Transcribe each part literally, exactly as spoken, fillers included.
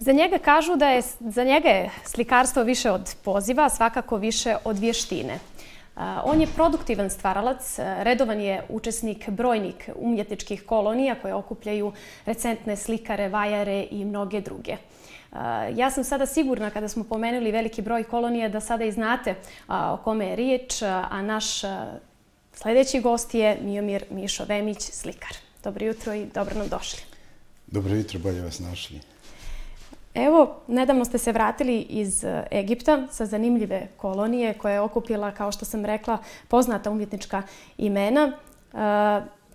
Za njega kažu da je, za njega je slikarstvo više od poziva, svakako više od vještine. On je produktivan stvaralac, redovan je učesnik brojnih umjetničkih kolonija koje okupljaju recentne slikare, vajare i mnoge druge. Ja sam sada sigurna, kada smo pomenuli veliki broj kolonija, da sada i znate o kome je riječ, a naš sljedeći gost je Miomir Mišo Vemić, slikar. Dobro jutro i dobro nam došli. Dobro jutro, bolje vas našli. Evo, nedavno ste se vratili iz Egipta sa zanimljive kolonije koja je okupila, kao što sam rekla, poznata umjetnička imena.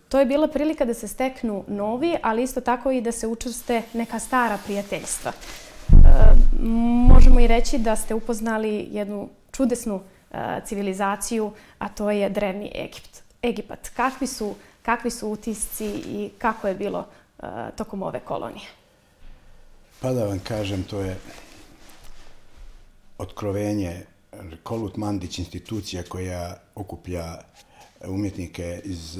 To je bila prilika da se steknu novi, ali isto tako i da se učvrste neka stara prijateljstva. Možemo i reći da ste upoznali jednu čudesnu civilizaciju, a to je drevni Egipt. Egipat. Kakvi su, kakvi su utisci i kako je bilo tokom ove kolonije? Pa da vam kažem, to je otkrovenje. Kolut Mandić, institucija koja okuplja umjetnike iz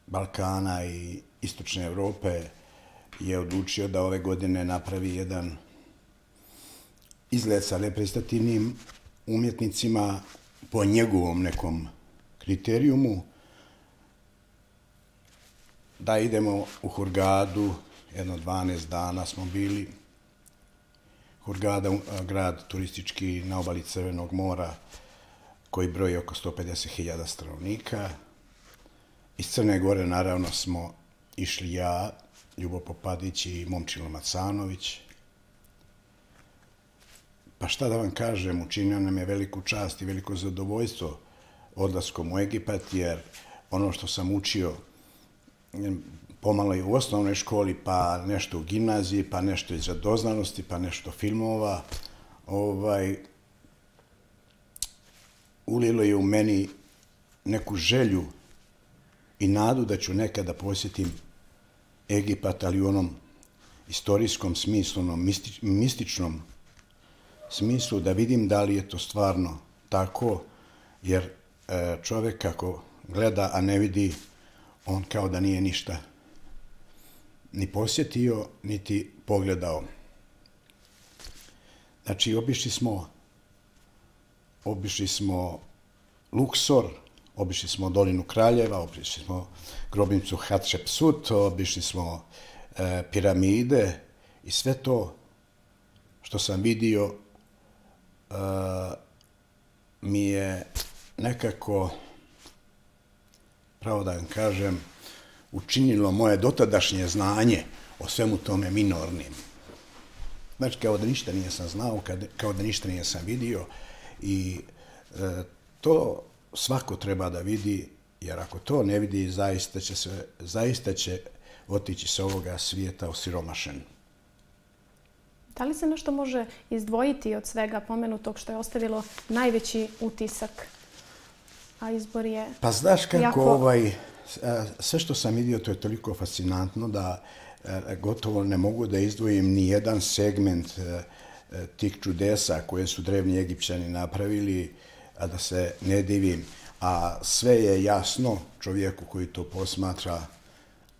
Balkana i Istočne Europe, je odlučio da ove godine napravi jedan izlet sa reprezentativnim umjetnicima po njegovom nekom kriterijumu, da idemo u Hurgadu. Jedno dvanaest dana smo bili. Hurgada, grad turistički na obali Crvenog mora, koji broji oko sto pedeset hiljada stanovnika. Iz Crne Gore naravno smo išli ja, Ljubo Popadić i Momčilo Macanović. Pa šta da vam kažem, učinio nam je veliku čast i veliko zadovoljstvo odlaskom u Egipat, jer ono što sam učio pomalo i u osnovnoj školi, pa nešto u gimnaziji, pa nešto iz radoznalosti, pa nešto filmova, ovaj, ulilo je u meni neku želju i nadu da ću nekada posjetim Egipat, ali u onom istorijskom smislu, onom mističnom smislu, da vidim da li je to stvarno tako, jer čovjek kako gleda, a ne vidi, on kao da nije ništa ni posjetio, niti pogledao. Znači, obišli smo, obišli smo Luksor, obišli smo Dolinu Kraljeva, obišli smo grobnicu Hatšepsut, obišli smo e, piramide i sve to što sam vidio e, mi je nekako, pravo da vam kažem, učinilo moje dotadašnje znanje o svemu tome minornim. Znači, kao da ništa nisam znao, kao da ništa nisam vidio i e, to svako treba da vidi, jer ako to ne vidi, zaista će, se, zaista će otići sa ovoga svijeta osiromašen. Da li se nešto može izdvojiti od svega pomenutog što je ostavilo najveći utisak, a izbor je... Pa znaš kako jako... ovaj... Sve što sam vidio, to je toliko fascinantno da gotovo ne mogu da izdvojim ni jedan segment tih čudesa koje su drevni Egipćani napravili, a da se ne divim. A sve je jasno čovjeku koji to posmatra,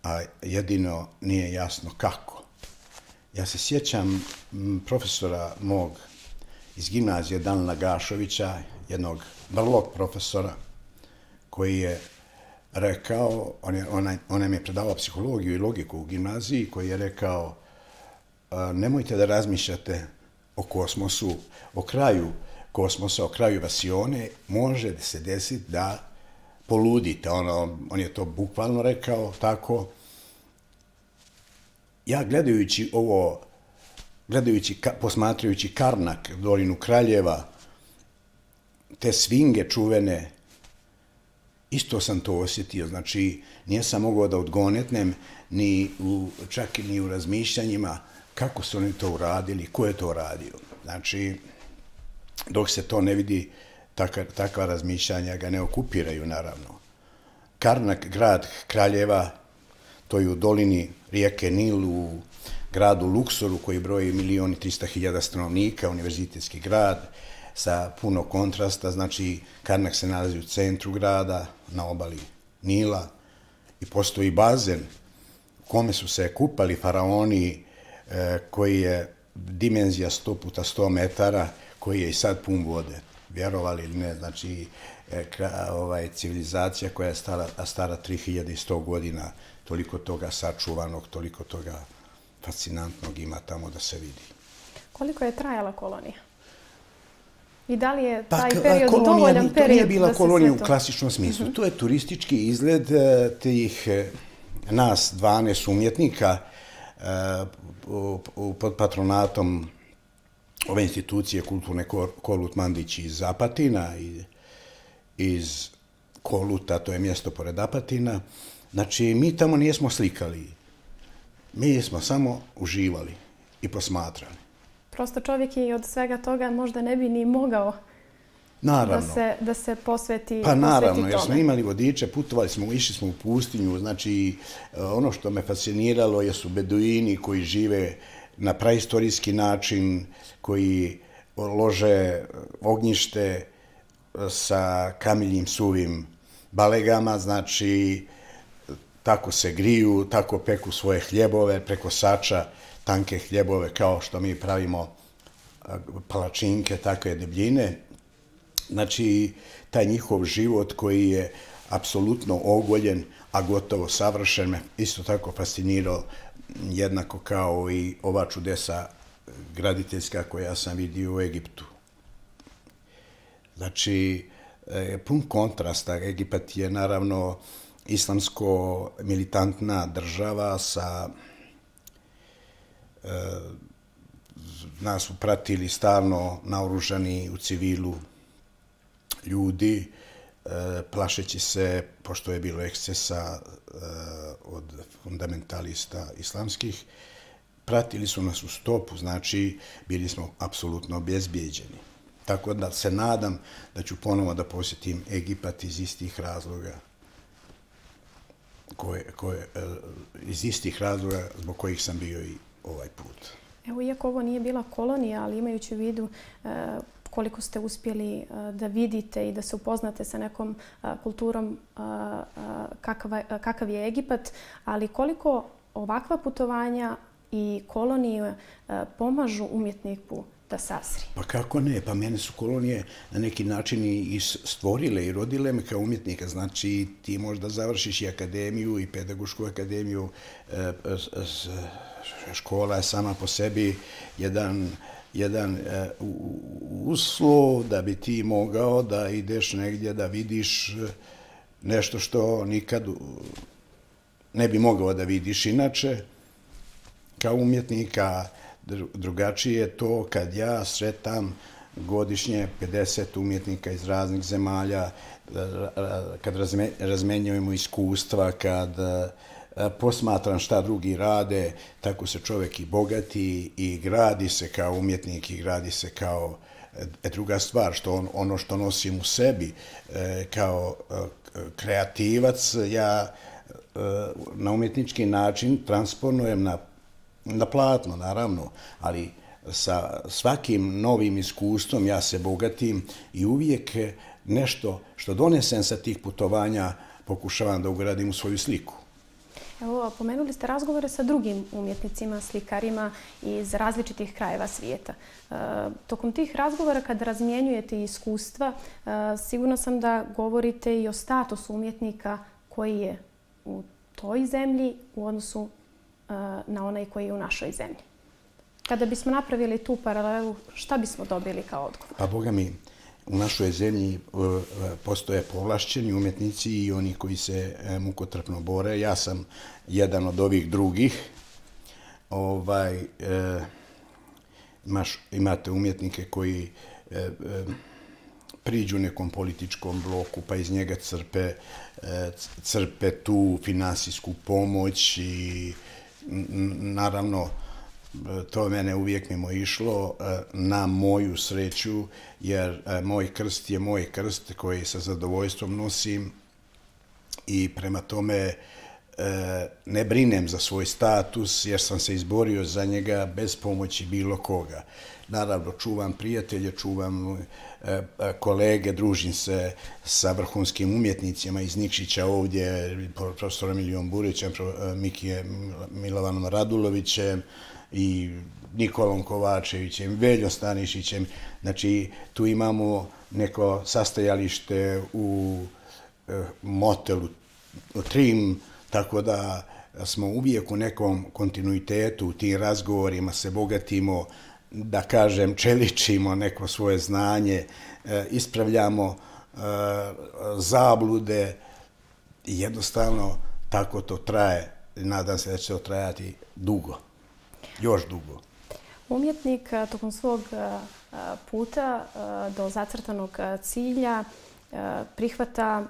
a jedino nije jasno kako. Ja se sjećam profesora mog iz gimnazije Danila Gašovića, jednog vrlog profesora, koji je rekao, on, je, on, on nam je predavao psihologiju i logiku u gimnaziji, koji je rekao, nemojte da razmišljate o kosmosu, o kraju kosmosa, o kraju vasione, može se desiti da poludite. Ono, on je to bukvalno rekao tako. Ja gledajući ovo, gledajući, posmatrajući Karnak, Dolinu Kraljeva, te svinge čuvene, isto sam to osjetio. Znači, nisam mogao da odgonetnem ni u, čak ni u razmišljanjima kako su oni to uradili, ko je to uradio. Znači, dok se to ne vidi, takva, takva razmišljanja ga ne okupiraju, naravno. Karnak, grad Kraljeva, to je u dolini rijeke Nil, u gradu Luksoru, koji broji milion i trista hiljada stanovnika, univerzitetski grad, sa puno kontrasta. Znači, Karnak se nalazi u centru grada, na obali Nila, i postoji bazen u kome su se kupali faraoni koji je dimenzija sto puta sto metara, koji je i sad pun vode. Vjerovali ili ne, znači ovaj, civilizacija koja je stara, stara tri hiljade sto godina, toliko toga sačuvanog, toliko toga fascinantnog ima tamo da se vidi. Koliko je trajala kolonija? I da li je taj pa, period kolonija, dovoljan period da se sve to... To nije bila kolonija u klasičnom smislu. Uh-huh. To je turistički izgled tih nas dvanaest umjetnika uh, pod patronatom ove institucije kulturne Kolut Mandić iz Apatina i iz Koluta, to je mjesto pored Apatina. Znači, mi tamo nismo slikali. Mi smo samo uživali i posmatrali. Prosto čovjek je od svega toga možda ne bi ni mogao da se, da se posveti Pa naravno, posveti jer smo imali vodiče, putovali smo, išli smo u pustinju. Znači, ono što me fasciniralo jesu beduini koji žive na praistorijski način, koji lože ognjište sa kamiljim suvim balegama, znači tako se griju, tako peku svoje hljebove preko sača, tanke hljebove kao što mi pravimo palačinke, takve debljine. Znači, taj njihov život koji je apsolutno ogoljen, a gotovo savršen, me isto tako fascinirao, jednako kao i ova čudesa graditeljska koja sam vidio u Egiptu. Znači, pun kontrasta. Egipat je naravno islamsko-militantna država sa... Nas su pratili stalno naoružani u civilu ljudi, plašeći se, pošto je bilo ekscesa od fundamentalista islamskih, pratili su nas u stopu, znači bili smo apsolutno obezbijeđeni. Tako da se nadam da ću ponovo da posjetim Egipat iz istih razloga, koje, koje, iz istih razloga zbog kojih sam bio i ovaj put. Evo, iako ovo nije bila kolonija, ali imajući u vidu koliko ste uspjeli da vidite i da se upoznate sa nekom kulturom kakav je Egipat, ali koliko ovakva putovanja i kolonije pomažu umjetniku da sasri? Pa kako ne? Pa mene su kolonije na neki način i stvorile i rodile me kao umjetnika. Znači, ti možda završiš i akademiju i pedagošku akademiju. Škola je sama po sebi jedan jedan uslov da bi ti mogao da ideš negdje da vidiš nešto što nikad ne bi mogao da vidiš inače. Kao umjetnika drugačije je to kad ja sretam godišnje pedeset umjetnika iz raznih zemalja, kad razmenjujemo iskustva, kad posmatram šta drugi rade, tako se čovjek i bogati i gradi se kao umjetnik i gradi se kao druga stvar, što ono što nosim u sebi kao kreativac, ja na umjetnički način transponujem na, na platno, naravno, ali sa svakim novim iskustvom ja se bogatim i uvijek nešto što donesem sa tih putovanja pokušavam da ugradim u svoju sliku. Evo, pomenuli ste razgovore sa drugim umjetnicima, slikarima iz različitih krajeva svijeta. E, tokom tih razgovora, kad razmjenjujete iskustva, e, sigurno sam da govorite i o statusu umjetnika koji je u toj zemlji u odnosu e, na onaj koji je u našoj zemlji. Kada bismo napravili tu paralelu, šta bismo dobili kao odgovor? Pa, Boga mi, u našoj zemlji postoje povlašćeni umjetnici i oni koji se mukotrpno bore. Ja sam jedan od ovih drugih. Ovaj, e, imaš, imate umjetnike koji e, e, priđu nekom političkom bloku pa iz njega crpe, e, crpe tu finansijsku pomoć i naravno to mene uvijek mimo išlo na moju sreću, jer moj krst je moj krst koji sa zadovoljstvom nosim i prema tome ne brinem za svoj status jer sam se izborio za njega bez pomoći bilo koga. Naravno, čuvam prijatelje, čuvam kolege, družim se sa vrhunskim umjetnicima iz Nikšića ovdje, profesorom Milijom Burićem, Mikije Milovanom Radulovićem, i Nikolom Kovačevićem, Veljom Stanišićem. Znači, tu imamo neko sastajalište u motelu Trim, tako da smo uvijek u nekom kontinuitetu u tim razgovorima, se bogatimo, da kažem, čeličimo neko svoje znanje, ispravljamo zablude i jednostavno tako to traje. Nadam se da će to trajati dugo, još dugo. Umjetnik tokom svog puta do zacrtanog cilja prihvata,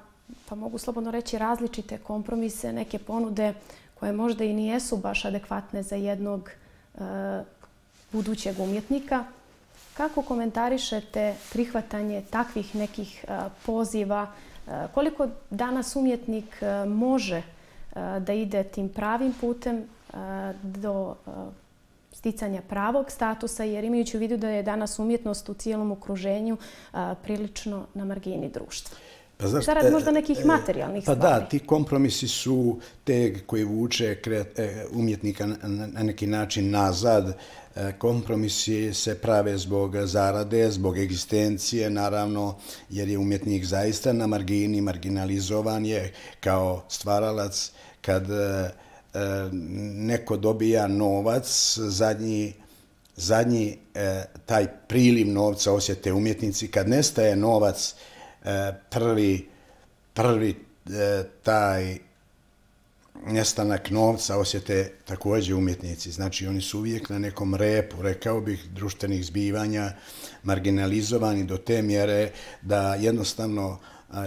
pa mogu slobodno reći, različite kompromise, neke ponude koje možda i nijesu baš adekvatne za jednog budućeg umjetnika. Kako komentarišete prihvatanje takvih nekih poziva? Koliko danas umjetnik može da ide tim pravim putem do sticanja pravog statusa, jer imajući u vidu da je danas umjetnost u cijelom okruženju prilično na margini društva? Pa znaš, Zarad možda nekih materijalnih pa stvari. Da, ti kompromisi su te koji vuče umjetnika na neki način nazad. Kompromisi se prave zbog zarade, zbog egzistencije, naravno, jer je umjetnik zaista na margini, marginalizovan je kao stvaralac. Kad neko dobija novac, zadnji, zadnji taj priliv novca osjete umjetnici. Kad nestaje novac, prvi, prvi taj nestanak novca osjete također umjetnici. Znači, oni su uvijek na nekom repu, rekao bih, društvenih zbivanja, marginalizovani do te mjere da jednostavno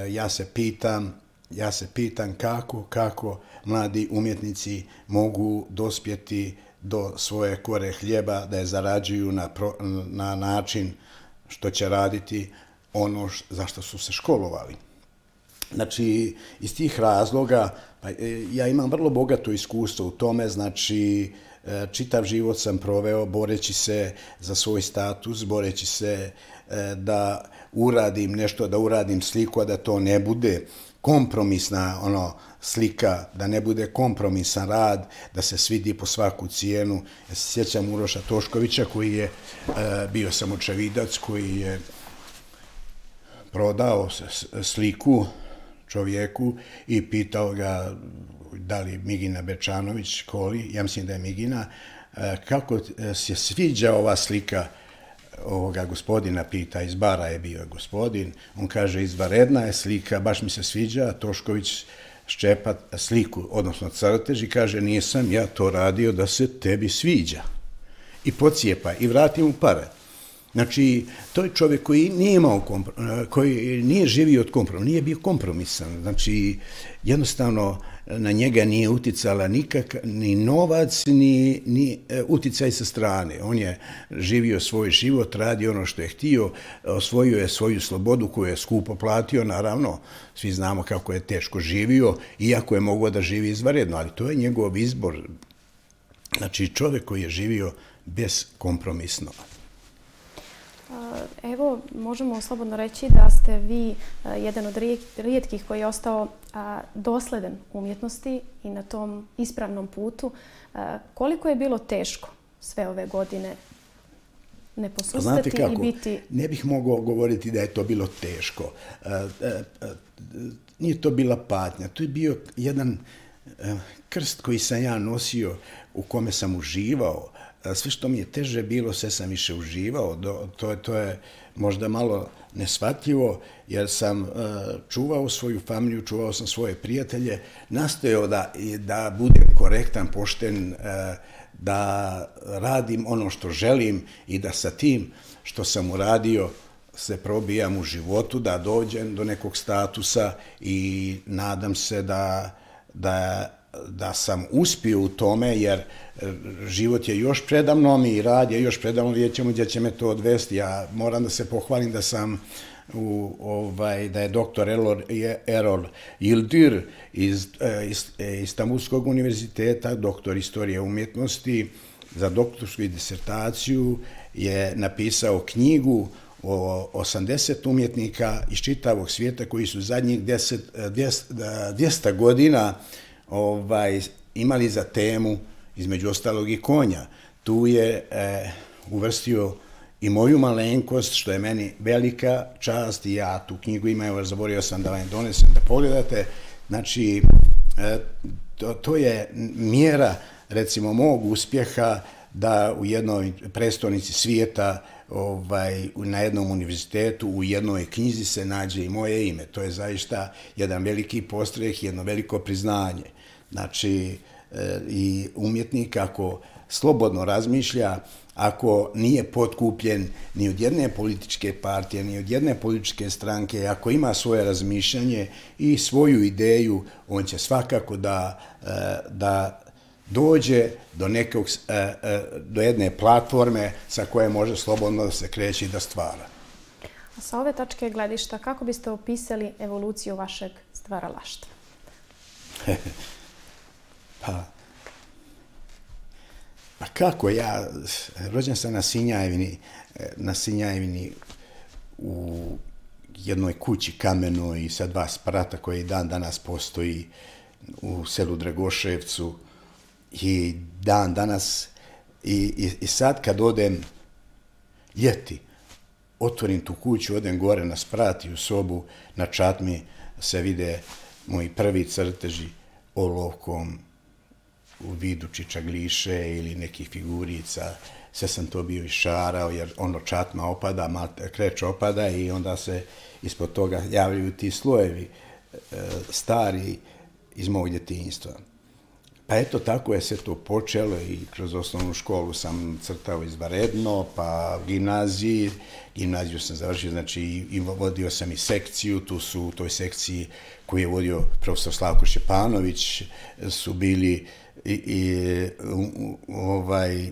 ja se pitam, ja se pitam kako, kako mladi umjetnici mogu dospjeti do svoje kore hljeba, da je zarađuju na, pro, na način što će raditi ono za što su se školovali. Znači, iz tih razloga, pa, ja imam vrlo bogato iskustvo u tome, znači, čitav život sam proveo boreći se za svoj status, boreći se da uradim nešto, da uradim sliku, a da to ne bude kompromisna ono, slika, da ne bude kompromisan rad, da se svidi po svaku cijenu. Ja se sjećam Uroša Toškovića koji je bio sam očevidac, koji je prodao sliku čovjeku i pitao ga da li Migina Bečanović, Koli, ja mislim da je Migina, kako se sviđa ova slika ovoga gospodina, pita, iz bara je bio gospodin, on kaže, izvanredna je slika, baš mi se sviđa, Tošković ščepa sliku, odnosno crtež, i kaže, nisam ja to radio da se tebi sviđa. I pocijepa i vrati mu pare. Znači, to je čovjek koji nije imao komprom, koji nije živio od kompromisa, nije bio kompromisan. Znači, jednostavno na njega nije uticala nikak, ni novac, ni, ni uticaj sa strane. On je živio svoj život, radio ono što je htio, osvojio je svoju slobodu koju je skupo platio, naravno, svi znamo kako je teško živio, iako je mogao da živi izvanredno, ali to je njegov izbor. Znači, čovjek koji je živio beskompromisno. Evo, možemo slobodno reći da ste vi jedan od rijetkih koji je ostao dosledan umjetnosti i na tom ispravnom putu. Koliko je bilo teško sve ove godine ne posustati i biti... Ne bih mogao govoriti da je to bilo teško. Nije to bila patnja. To je bio jedan krst koji sam ja nosio, u kome sam uživao. Sve što mi je teže bilo, sve sam više uživao. To, to je možda malo neshvatljivo, jer sam uh, čuvao svoju familiju, čuvao sam svoje prijatelje, nastojao da, da budem korektan, pošten, uh, da radim ono što želim i da sa tim što sam uradio se probijam u životu, da dođem do nekog statusa i nadam se da, da da sam uspio u tome, jer život je još predamnom i rad je još predamnom, vidjet ćemo gdje će me to odvesti. Ja moram da se pohvalim da sam u, ovaj, da je doktor Erol, Erol Yildir iz, iz Istanbulskog univerziteta, doktor istorije umjetnosti, za doktorsku disertaciju je napisao knjigu o osamdeset umjetnika iz čitavog svijeta koji su zadnjih dvjesto godina ovaj, imali za temu, između ostalog i konja, tu je e, uvrstio i moju malenkost, što je meni velika čast i ja tu knjigu imam, jer zaborio sam da vam donesem da pogledate. Znači, e, to, to je mjera, recimo, mog uspjeha da u jednoj prestonici svijeta, ovaj, na jednom univerzitetu, u jednoj knjizi se nađe i moje ime. To je zaista jedan veliki postreh, jedno veliko priznanje. Znači, e, i umjetnik ako slobodno razmišlja, ako nije potkupljen ni od jedne političke partije, ni od jedne političke stranke, ako ima svoje razmišljanje i svoju ideju, on će svakako da, da dođe do, nekog, do jedne platforme sa koje može slobodno da se kreće i da stvara. A sa ove tačke gledišta, kako biste opisali evoluciju vašeg stvaralaštva? Pa, Pa kako, ja rođen sam na Sinjajevini, na Sinjajevini u jednoj kući kamenoj i sa dva sprata koji dan danas postoji u selu Dragoševcu i dan danas i, i, i sad kad odem ljeti, otvorim tu kuću, odem gore na sprat i u sobu, na čatmi se vide moji prvi crteži olovkom u vidu čičagliše ili nekih figurica. Sve sam to bio išarao jer ono čatma opada, kreć opada i onda se ispod toga javljaju ti slojevi e, stari iz mog djetinjstva. Pa eto, tako je sve to počelo i kroz osnovnu školu sam crtao izvanredno, pa gimnaziji, gimnaziju sam završio, znači i vodio sam i sekciju, tu su u toj sekciji koju je vodio profesor Slavko Šćepanović, su bili i, i ovaj,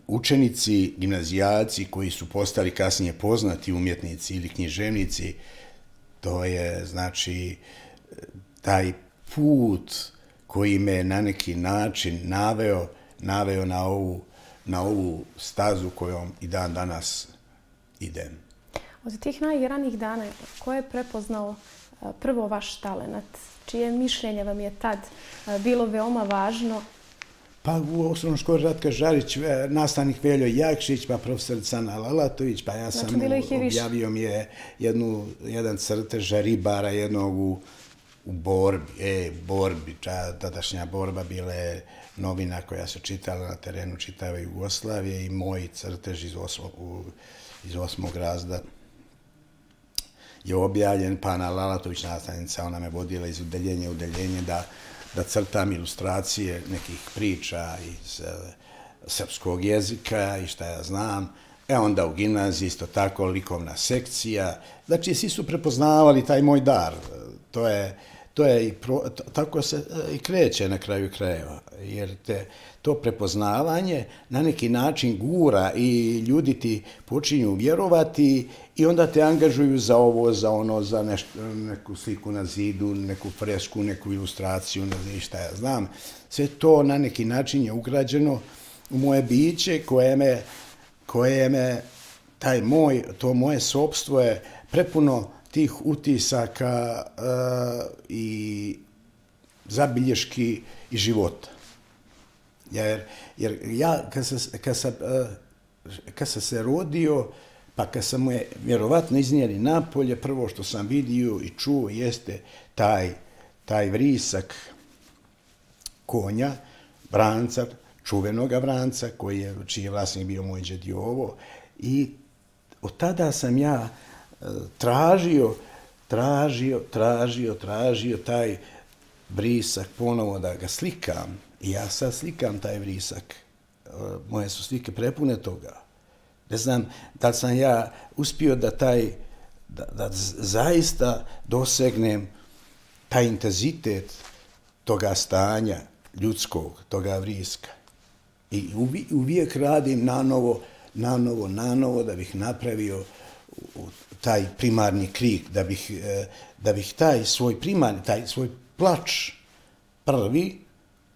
učenici, gimnazijalci koji su postali kasnije poznati umjetnici ili književnici. To je, znači, taj put koji me na neki način naveo, naveo na ovu, na ovu stazu kojom i dan danas idem. Od tih najranijih dana, ko je prepoznao prvo vaš talenat? Čije mišljenje vam je tad bilo veoma važno? Pa u osnovnoj školi Ratka Žarić, nastavnik Veljo Jakšić, pa profesor Cana Lalatović, pa ja sam znači, objavio mi je jednu, jedan crtež ribara jednog u, u borbi, e, borbi, ča, tadašnja borba bila je novina koja se čitala na terenu čitave Jugoslavije i moj crtež iz osmog, u, iz osmog razda je objavljen, pa Ana Lalatović, nastavnica, ona me vodila iz udeljenja u udeljenje da da crtam ilustracije nekih priča iz uh, srpskog jezika i šta ja znam. E onda u gimnaziji isto tako likovna sekcija. Znači, svi su prepoznavali taj moj dar. To je, to je i pro, tako se uh, i kreće na kraju krajeva. Jer te, to prepoznavanje na neki način gura i ljudi ti počinju vjerovati i onda te angažuju za ovo, za ono, za nešto, neku sliku na zidu, neku fresku, neku ilustraciju, ne znam šta ja znam. Sve to na neki način je ugrađeno u moje biće koje me, koje me taj moj, to moje sopstvo je prepuno tih utisaka uh, i zabilješki i života. Jer, jer ja, kad sam, kad, sam, kad sam se rodio, pa kad sam mu je vjerovatno iznijeli napolje, prvo što sam vidio i čuo jeste taj, taj vrisak konja, Vranca, čuvenoga Vranca, koji je, čiji je vlasnik bio moj džed Jovo. I od tada sam ja tražio, tražio, tražio, tražio taj vrisak ponovo da ga slikam. I ja sad slikam taj vrisak. Moje su slike prepune toga. Ne znam da li sam ja uspio da taj, da, da zaista dosegnem taj intenzitet toga stanja ljudskog, toga vriska. I uvijek radim nanovo, nanovo, nanovo da bih napravio taj primarni krik, da bih, da bih taj svoj primarni, taj svoj plač prvi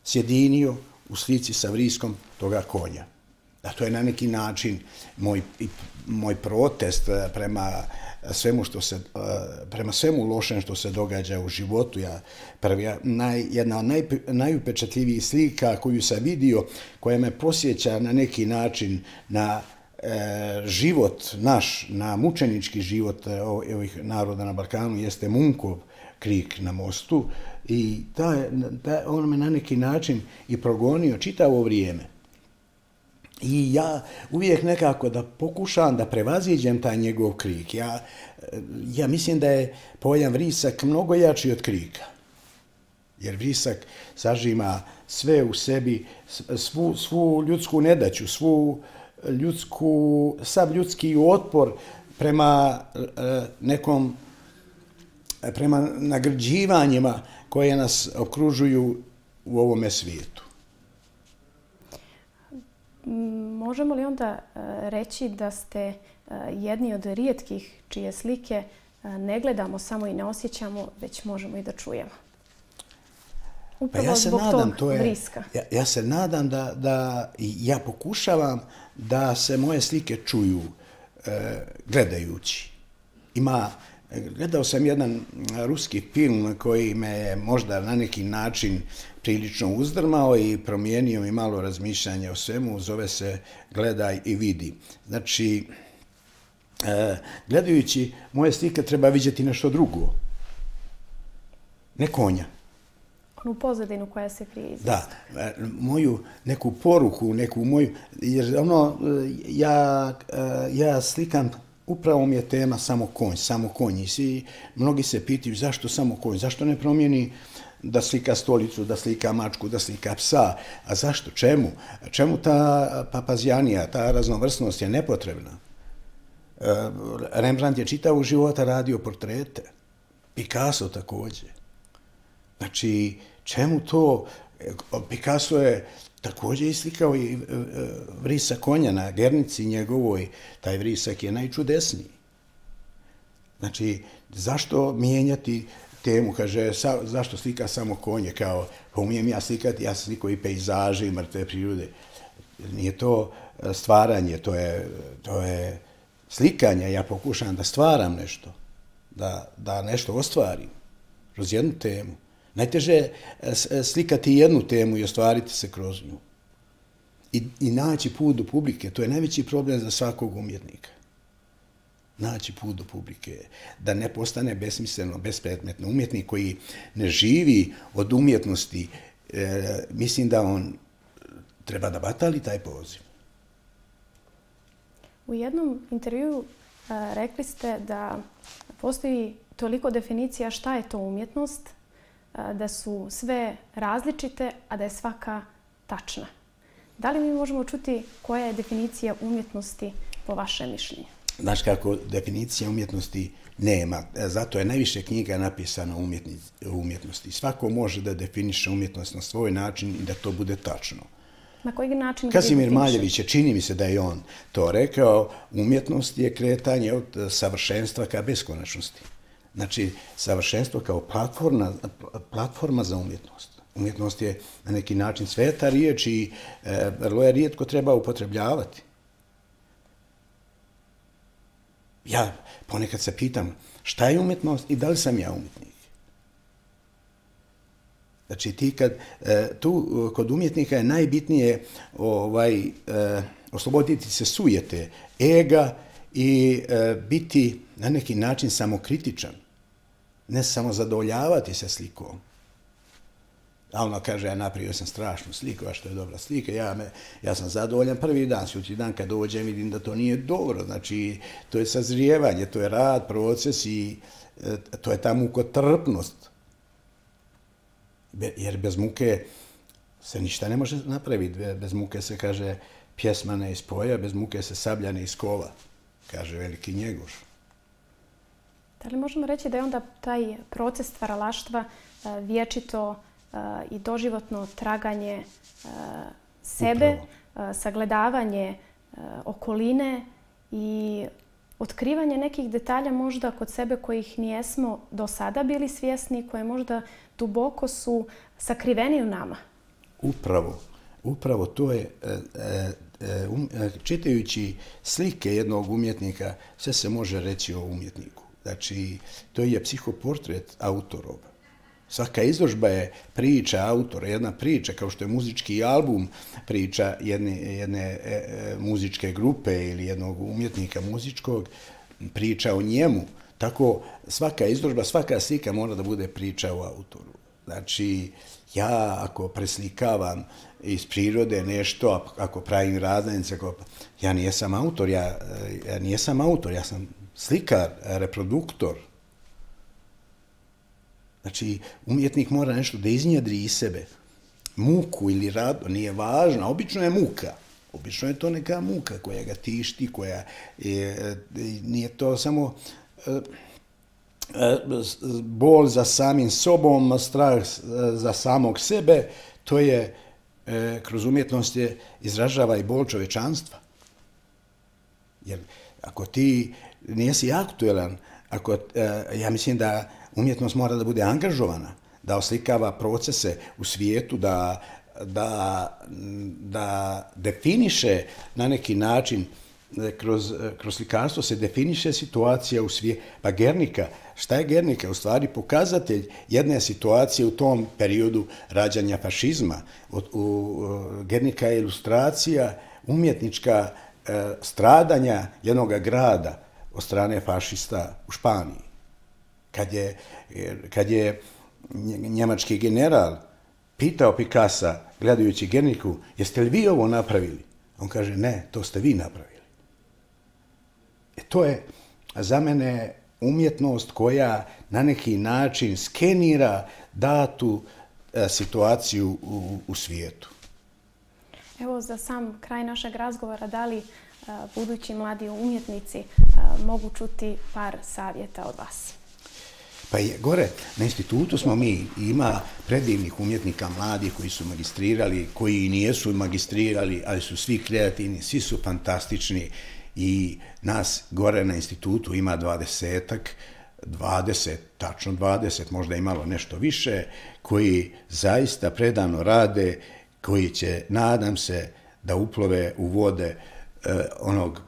sjedinio u slici sa vriskom toga konja. Da to je na neki način moj, moj protest prema svemu što se, prema svemu lošem što se događa u životu. Ja, prvi, naj, jedna od naj, najupečatljivijih slika koju sam vidio, koja me posjeća na neki način na e, život naš, na mučenički život ovih naroda na Balkanu, jeste Munkov krik na mostu. I ta, ta, on me na neki način i progonio čitavo vrijeme. I ja uvijek nekako da pokušam da prevaziđem taj njegov krik. Ja, ja mislim da je pojam vrisak mnogo jači od krika. Jer vrisak sažima sve u sebi, svu, svu ljudsku nedaću, svu ljudsku, sav ljudski otpor prema nekom, prema nagrđivanjima koje nas okružuju u ovome svijetu. Možemo li onda reći da ste jedni od rijetkih čije slike ne gledamo samo i ne osjećamo, već možemo i da čujemo? Upravo pa ja se zbog nadam, tog to je, vriska. Ja, ja se nadam da, da ja pokušavam da se moje slike čuju e, gledajući. Ima, gledao sam jedan ruski film koji me je možda na neki način prilično uzdrmao i promijenio mi malo razmišljanje o svemu, zove se Gledaj i vidi. Znači, e, gledajući moje slike treba vidjeti nešto drugo. Ne konja. Onu pozadinu koja se krije iza. Da, moju neku poruku, neku moju, jer ono, ja, ja slikam, upravo mi je tema samo konj, samo konj. I svi, mnogi se pitaju zašto samo konj, zašto ne promijeni da slika stolicu, da slika mačku, da slika psa. A zašto? Čemu? Čemu ta papazjanija, ta raznovrsnost je nepotrebna? Rembrandt je čitavog života radio portrete. Picasso također. Znači, čemu to? Picasso je također islikao i vrisak konja na Gernici njegovoj. Taj vrisak je najčudesniji. Znači, zašto mijenjati temu? Kaže, sa, zašto slika samo konje? Kao, pa umijem ja slikati, ja slikao i pejzaže i mrtve prirode. Nije to stvaranje, to je, to je slikanje. Ja pokušam da stvaram nešto, da, da nešto ostvarim kroz jednu temu. Najteže je slikati jednu temu i ostvariti se kroz nju. I, i naći put do publike. To je najveći problem za svakog umjetnika. Naći put do publike. Da ne postane besmisleno, bespredmetno. Umjetnik koji ne živi od umjetnosti, e, mislim da on treba da batali taj poziv. U jednom intervjuu a, rekli ste da postoji toliko definicija šta je to umjetnost, da su sve različite, a da je svaka tačna. Da li mi možemo čuti koja je definicija umjetnosti po vašem mišljenju? Znaš kako, definicija umjetnosti nema. Zato je najviše knjiga napisano o umjetnosti. Svako može da definiše umjetnost na svoj način i da to bude tačno. Na koji način? Kazimir Maljević je, čini mi se da je on to rekao, umjetnost je kretanje od savršenstva ka beskonačnosti. Znači, savršenstvo kao platforma, platforma za umjetnost. Umjetnost je na neki način sveta riječ i e, vrlo je rijetko treba upotrebljavati. Ja ponekad se pitam šta je umjetnost i da li sam ja umjetnik. Znači, ti kad, e, tu kod umjetnika je najbitnije ovaj, e, osloboditi se sujete, ega i e, biti na neki način samokritičan. Ne samo zadovoljavati se slikom. A ono kaže, ja napravio sam strašnu sliku, a što je dobra slika, ja, me, ja sam zadovoljan prvi dan, sljedeći dan kad dođem vidim da to nije dobro. Znači, to je sazrijevanje, to je rad, proces i e, to je ta mukotrpnost. Be, jer bez muke se ništa ne može napraviti. Bez muke se, kaže, pjesma ne ispoja, bez muke se sablja ne iskova, kaže veliki Njegoš. Da li možemo reći da je onda taj proces stvaralaštva vječito i doživotno traganje sebe, upravo, sagledavanje okoline i otkrivanje nekih detalja možda kod sebe kojih nijesmo do sada bili svjesni, koje možda duboko su sakriveni u nama? Upravo. upravo to je, um, čitajući slike jednog umjetnika, sve se može reći o umjetniku. Znači, to je psihoportret autorova. Svaka izložba je priča autora, jedna priča, kao što je muzički album priča jedne, jedne e, muzičke grupe ili jednog umjetnika muzičkog, priča o njemu. Tako svaka izložba, svaka slika mora da bude priča o autoru. Znači, ja ako preslikavam iz prirode nešto, ako pravim razglednice, ja nijesam autor, ja, ja nijesam autor, ja sam slikar, reproduktor. Znači, umjetnik mora nešto da iznjedri iz sebe. Muku ili rado, nije važno, obično je muka. Obično je to neka muka koja ga tišti, koja je, nije to samo bol za samim sobom, strah za samog sebe, to je, kroz umjetnost je, izražava i bol čovečanstva. Jer ako ti nisi aktuelan, ako, ja mislim da umjetnost mora da bude angažovana, da oslikava procese u svijetu, da, da, da definiše na neki način, kroz, kroz slikarstvo se definiše situacija u svijetu. Pa Guernica, šta je Guernica? U stvari pokazatelj jedne situacije u tom periodu rađanja fašizma. U, u, Guernica je ilustracija umjetnička e, stradanja jednog grada od strane fašista u Španiji. Kad je, kad je njemački general pitao Picassa, gledajući Guernicu, jeste li vi ovo napravili? On kaže, ne, to ste vi napravili. E to je za mene umjetnost koja na neki način skenira datu e, situaciju u, u svijetu. Evo, za sam kraj našeg razgovora, da li a, budući mladi umjetnici a, mogu čuti par savjeta od vas? Pa je, gore, na institutu smo mi, ima predivnih umjetnika mladih koji su magistrirali, koji nijesu magistrirali, ali su svi kreativni, svi su fantastični i nas gore na institutu ima dvadesetak, dvadeset, tačno dvadeset, možda i malo nešto više, koji zaista predano rade, koji će, nadam se, da uplove u vode eh, onog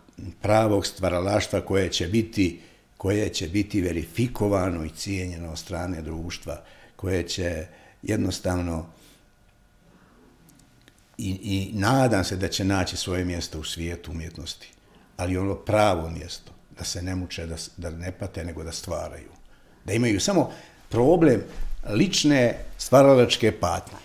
pravog stvaralaštva koje će biti koje će biti verifikovano i cijenjeno od strane društva, koje će jednostavno i, i nadam se da će naći svoje mjesto u svijetu umjetnosti, ali ono pravo mjesto, da se ne muče, da, da ne pate, nego da stvaraju. Da imaju samo problem lične stvaralačke patnje.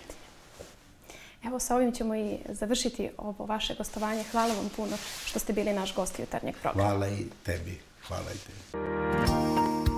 Evo, sa ovim ćemo i završiti ovo vaše gostovanje. Hvala vam puno što ste bili naš gost jutarnjeg programa. Hvala i tebi. Hvala i tebi.